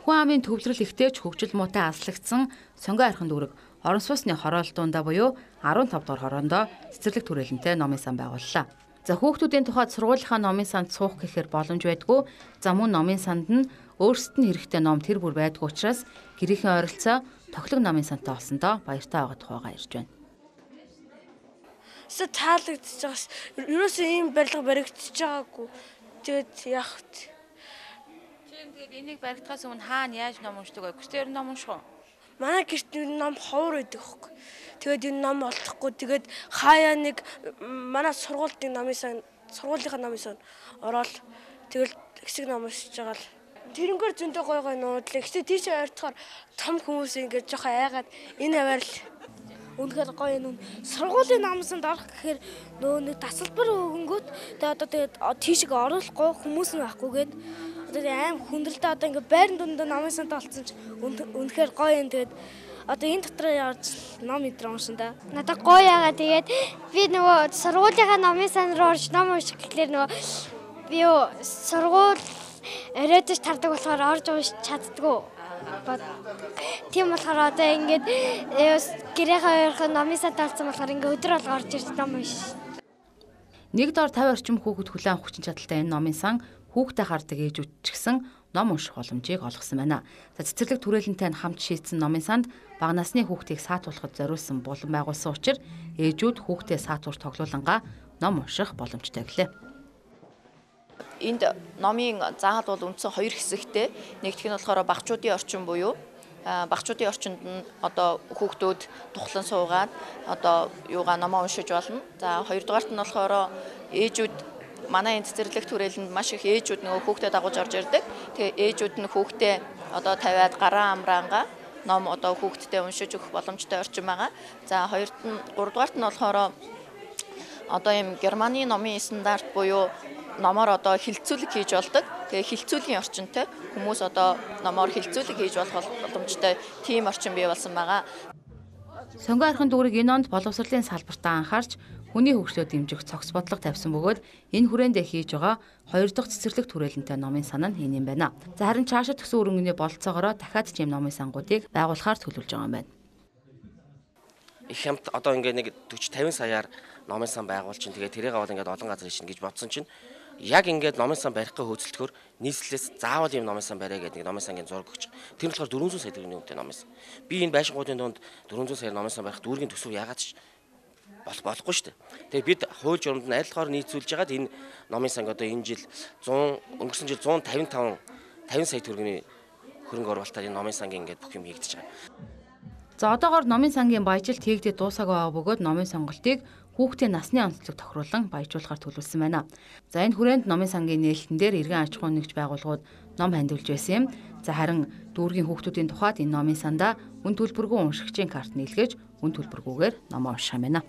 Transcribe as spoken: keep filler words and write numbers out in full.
Хүн амын төвлөрөл ихтэйч хөгжил муутай аслагдсан сонгой архин дүүрэг орон сууцны хороолтуундаа буюу арван тав дугаар хороондоо цэцэрлэг түрээлэнтэй номын сан байгууллаа. За хүүхдүүдийн тухайд сургуулийнхаа номын санд суух гэхээр боломж байдгүй. За мөн номын санд нь өөрсдөд нь хэрэгтэй ном тэр бүр байдгүй учраас гэрийнхэн ойролцоо тоглог номын сантай олсондоо баяртай байгаа тухайгаа ярьж байна. Сэ таалагдчихж байгаас ерөөсөө ийм барилга баригдчихж байгаагүй. Тэгээд яах вэ? Тийм тэгээд энийг баригдахаас өмнө хаана яаж ном уншдаг вэ? Гэртээр ном унших уу? Манай гэрт ном ховор байдаг хөөх. Тэгээд энэ ном олдохгүй. Тэгээд хаяа нэг манай сургуулийн номын сан сургуулийнхаа номын сан ороод тэгэл хэсэг ном уншиж байгаа л тэрнгээр зөндөө гой гой нуудлаа. Гэхдээ тийш ойртохоор том хүмүүс ингэж жоохон айгаад энэ аваар л үнэхээр гоё юм. Сургуулийн номын санд орох гэхээр нөө нэг тасалбар өгөнгөт тэгээд одоо тэгээд тийшээ оруулахгүй хүмүүс нь байхгүй гээд одоо аим хүндрэлтэй одоо ингээ байрны дунд номын санд олцсон ч үнэхээр гоё юм. Тэгээд одоо энэ дотор явж ном өдрөө уншина. Надад гоё яагаад тэгээд би нөгөө сургуулийнхаа номын сан руу орж ном унших гэхлээр нөгөө би юу сургууль өрөөдөж тардаг болохоор орж уншиж чаддгүй. Тийм болохоор одоо ингээд гэрээхээ ойрхон номын сан талцсан болохоор ингээ өдөр болго орж ирж ном уншиж. Нэг доор тавь орчим хүүхэд хүлээн хүчин чадалтай энэ номын сан хүүхдээ хардаг ээжүүд ч гэсэн ном унших боломжийг олгосон байна. За цэцэрлэг түрээлэнтэй хамт шийдсэн номын санд бага насны хүүхдийг саатуулахад зориулсан булан байгуулсан учраас ээжүүд хүүхдээ саатуур тоглоулангаа ном унших боломжтой гэлээ. Энд номын заал бол үндсэн хоёр хэсэгтэй. Нэгдүгээр нь болохоор багчуудын орчин буюу багчуудын орчинд нь одоо хүүхдүүд тухлан суугаад одоо юугаа номоо уншиж болно. За хоёрдугаарт нь болохоор ээжүүд манай энэ цэцэрлэг түрээлэнд маш их ээжүүд нөгөө хүүхдэд дагуулж орж ирдэг. Тэгээ ээжүүд нь хүүхдээ одоо тавиад гараа амраангаа ном одоо хүүхдэд уншиж өгөх боломжтой орчин байгаа. За хоёрт нь гуравдугаарт нь болохоор одоо юм Германы номын стандарт буюу номоор одоо хилцүүлэг хийж болдог. Тэгээ хилцүүлгийн орчинтой хүмүүс одоо номоор хилцүүлэг хийж болох боломжтой тийм орчин бий болсон байгаа. Сонгой архин дүүрэг энэ онд боловсролын салбартаа анхаарч хүний хөгжлөө дэмжих цогц бодлого тавьсан бөгөөд энэ хүрээндээ хийж байгаа хоёр дахь цэцэрлэг түрээлэнтэй номын сан нь энэ юм байна. За харин цаашаа төсөн өрөнгөний бололцоогоор дахиад ч юм номын сангуудыг байгуулахаар төлөвлөж байгаа юм байна. Их хямд одоо ингээд нэг forty fifty саяар номын сан байгуул чинь тэгээ тэрийг аваад ингээд олон газар ишин гэж бодсон чинь яг ингээд номын сан барихыг хөөцөлдөхөөр нийслэлээс заавал юм номын сан барай гэдэг номын сангийн зураг өгч. Тэр нь болохоор four hundred сая төгрөгийн үнэтэй номын сан. Би энэ байшингуудын донд four hundred сая номын сан барих дүүргийн төсөв яагаад ч болох болохгүй шүү дээ. Тэгээ бид хууль журамд нь аль болохоор нийцүүлж хагаад энэ номын санг одоо энэ жил one hundred өнгөрсөн жил one hundred fifty-five fifty сая төгрөгийн хөрөнгө оруулалтаар энэ номын сангийн ингээд бүх юм хийгдэж байгаа. За одоогоор номын сангийн баяжилт хийгдэж дуусаагүй байгаа бөгөөд номын сонголтыг хүүхдийн насны онцлог тохируулан баяжуулахар төлөвлөсөн байна. За энэ хүрээнд номын сангийн нээлтэн дээр иргэн аж ахуйн нэгж байгууллагууд ном хандивж байсан юм. За харин дүүргийн хүүхдүүдийн тухайд энэ номын сандаа үн төлбөргүй уншигчийн карт нийлгэж үн төлбөргүйгээр ном унших юм байна.